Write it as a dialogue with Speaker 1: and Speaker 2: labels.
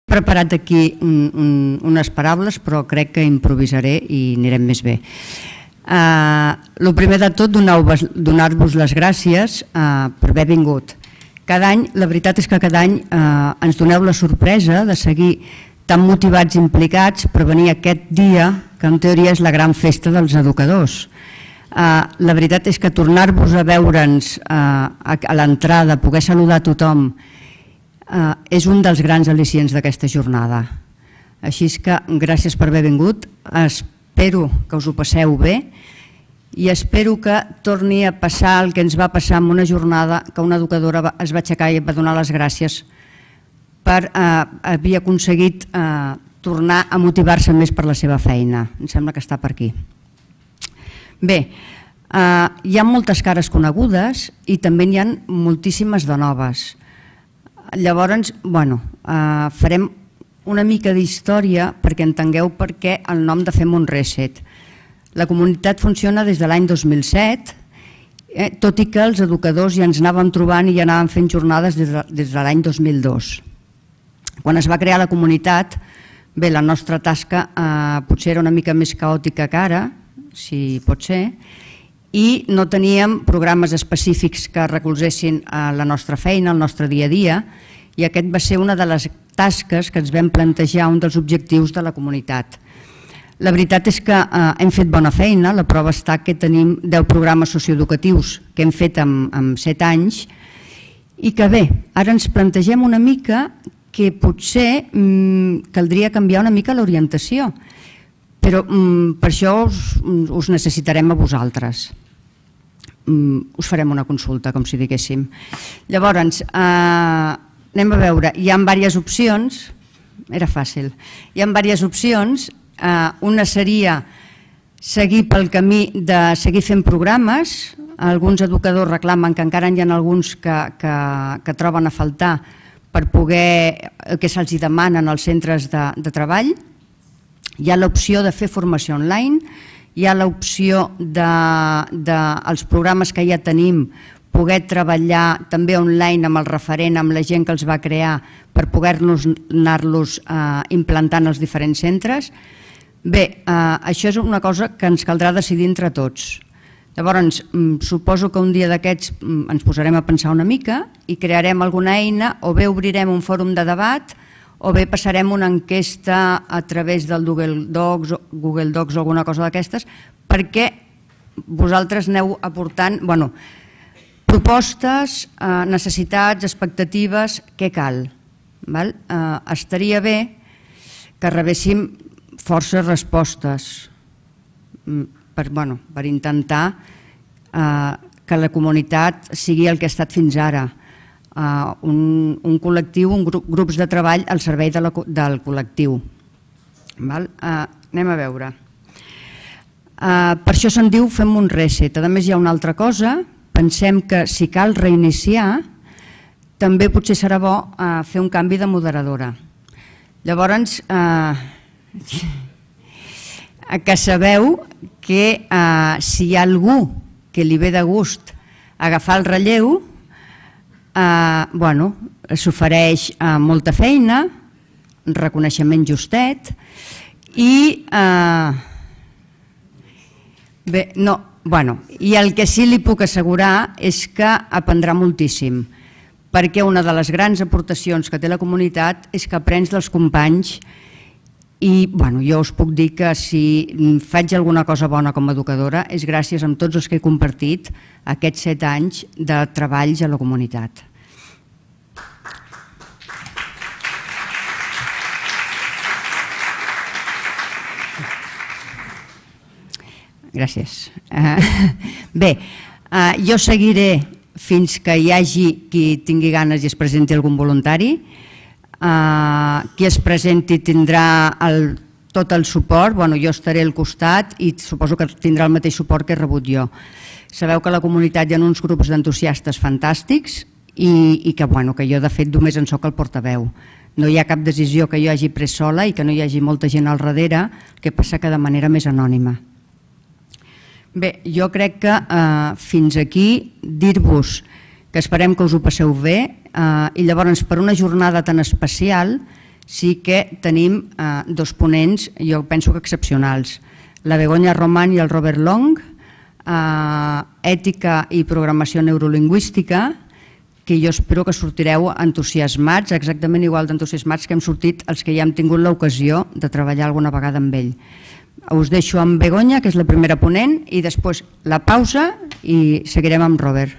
Speaker 1: preparat aquí unes paraules, però crec que improvisaré i anirem més bé. El primer de tot, donar-vos les gràcies per haver vingut. Cada any, la veritat és que cada any ens doneu la sorpresa de seguir tan motivats i implicats per venir aquest dia, que en teoria és la gran festa dels educadors. La veritat és que tornar-vos a veure'ns a l'entrada, poder saludar a tothom, és un dels grans al·licients d'aquesta jornada. Així és que gràcies per haver vingut, espero que us ho passeu bé i espero que torni a passar el que ens va passar en una jornada que una educadora es va aixecar i va donar les gràcies per haver aconseguit tornar a motivar-se més per la seva feina. Em sembla que està per aquí. Bé, hi ha moltes cares conegudes i també n'hi ha moltíssimes de noves. Llavors, farem una mica d'història perquè entengueu per què el nom de Fem un Reset. La comunitat funciona des de l'any 2007, tot i que els educadors ja ens anàvem trobant i ja anàvem fent jornades des de l'any 2002. Quan es va crear la comunitat, bé, la nostra tasca potser era una mica més caòtica que ara, si pot ser, i no teníem programes específics que recolzessin la nostra feina, el nostre dia a dia, i aquest va ser una de les tasques que ens vam plantejar, un dels objectius de la comunitat. La veritat és que hem fet bona feina, la prova està que tenim 10 programes socioeducatius que hem fet en 7 anys i que bé, ara ens plantegem una mica que potser caldria canviar una mica l'orientació, però per això us necessitarem a vosaltres. Us farem una consulta, com si diguéssim. Llavors, anem a veure, hi ha diverses opcions, era fàcil, hi ha diverses opcions, una seria seguir pel camí de seguir fent programes, alguns educadors reclamen que encara hi ha alguns que troben a faltar per poder, que se'ls demanen als centres de treball. Hi ha l'opció de fer formació online, hi ha l'opció dels programes que ja tenim, poder treballar també online amb el referent, amb la gent que els va crear, per poder-nos anar-los implantant als diferents centres. Bé, això és una cosa que ens caldrà decidir entre tots. Llavors, suposo que un dia d'aquests ens posarem a pensar una mica i crearem alguna eina, o bé obrirem un fòrum de debat, o bé passarem una enquesta a través del Google Docs o alguna cosa d'aquestes, perquè vosaltres aneu aportant propostes, necessitats, expectatives, què cal. Estaria bé que rebéssim forces respostes per intentar que la comunitat sigui el que ha estat fins ara, un col·lectiu, grups de treball al servei del col·lectiu. Anem a veure. Per això se'n diu Fem un Reset. A més, hi ha una altra cosa. Pensem que si cal reiniciar, també potser serà bo fer un canvi de moderadora. Llavors, que sabeu que si hi ha algú que li ve de gust agafar el relleu, s'ofereix molta feina, reconeixement justet i el que sí li puc assegurar és que aprendrà moltíssim, perquè una de les grans aportacions que té la comunitat és que aprens dels companys i jo us puc dir que si faig alguna cosa bona com a educadora és gràcies a tots els que he compartit aquests 7 anys de treballs a la comunitat. Gràcies. Bé, jo seguiré fins que hi hagi qui tingui ganes i es presenti algun voluntari. Qui es presenti tindrà tot el suport, jo estaré al costat i suposo que tindrà el mateix suport que he rebut jo. Sabeu que a la comunitat hi ha uns grups d'entusiastes fantàstics i que jo de fet només en soc el portaveu. No hi ha cap decisió que jo hagi pres sola i que no hi hagi molta gent al darrere, el que passa que de manera més anònima. Bé, jo crec que fins aquí dir-vos que esperem que us ho passeu bé i llavors per una jornada tan especial sí que tenim dos ponents, jo penso que excepcionals, la Begoña Román i el Robert Long, ètica i programació neurolingüística, que jo espero que sortireu entusiasmats, exactament igual d'entusiasmats que hem sortit els que ja hem tingut l'ocasió de treballar alguna vegada amb ell. Us deixo amb Begoña, que és la primera ponent, i després la pausa i seguirem amb Robert.